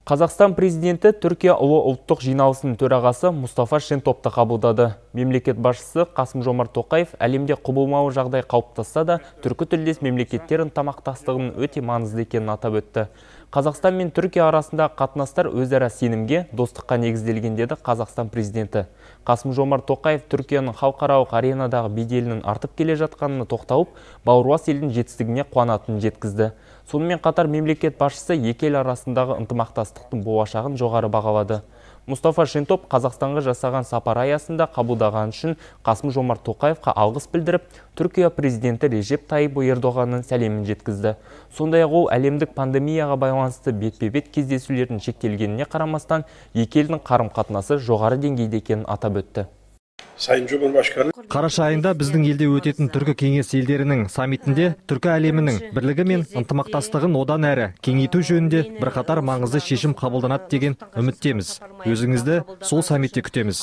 Қазақстан президенті Түркия ұлы ұлттық жиналысының төрағасы Мұстафа Шентопты қабылдады. Мемлекет басшысы Қасым-Жомарт Тоқаев әлемде құбылмалы жағдай қалыптасса да, түркі тілдес мемлекеттер ынтымақтастығының өте маңызды екенін атап өтті. Қазақстан мен Түркия арасында қатынастар өзара сенімге, достыққа негізделген деді Қазақстан президенті. Қасым-Жомарт Тоқаев Түркияның халықаралық аренадағы беделінің артып келе жатқанына тоқталып, бауырлас елдің жетістігіне қуанатынын жеткізді. Сонымен қатар мемлекет басшысы екі ел арасындағы ынтымақтастықтың болашағын жоғары бағалады. Мұстафа Шентоп Қазақстанға жасаған сапар аясында қабылдаған үшін Қасым-Жомарт Тоқаевқа алғыс білдіріп, Түркия президенті Режеп Тайып Ердоғанның сәлемін жеткізді. Сондай-ақ ол әлемдік пандемияға байланысты бетпе-бет кездесулердің шектелгеніне қарамастан, екі елдің қарым-қатынасы жоғары деңгейде екенін атап өтті. Қараша айында біздің елде өтетін түркі кеңес елдерінің саммитінде түркі әлемінің бірлігі мен ынтымақтастығын одан әрі кеңейту жөнінде бірқатар маңызды шешім қабылданады деген үміттеміз. Өзіңізді сол саммитте күтеміз.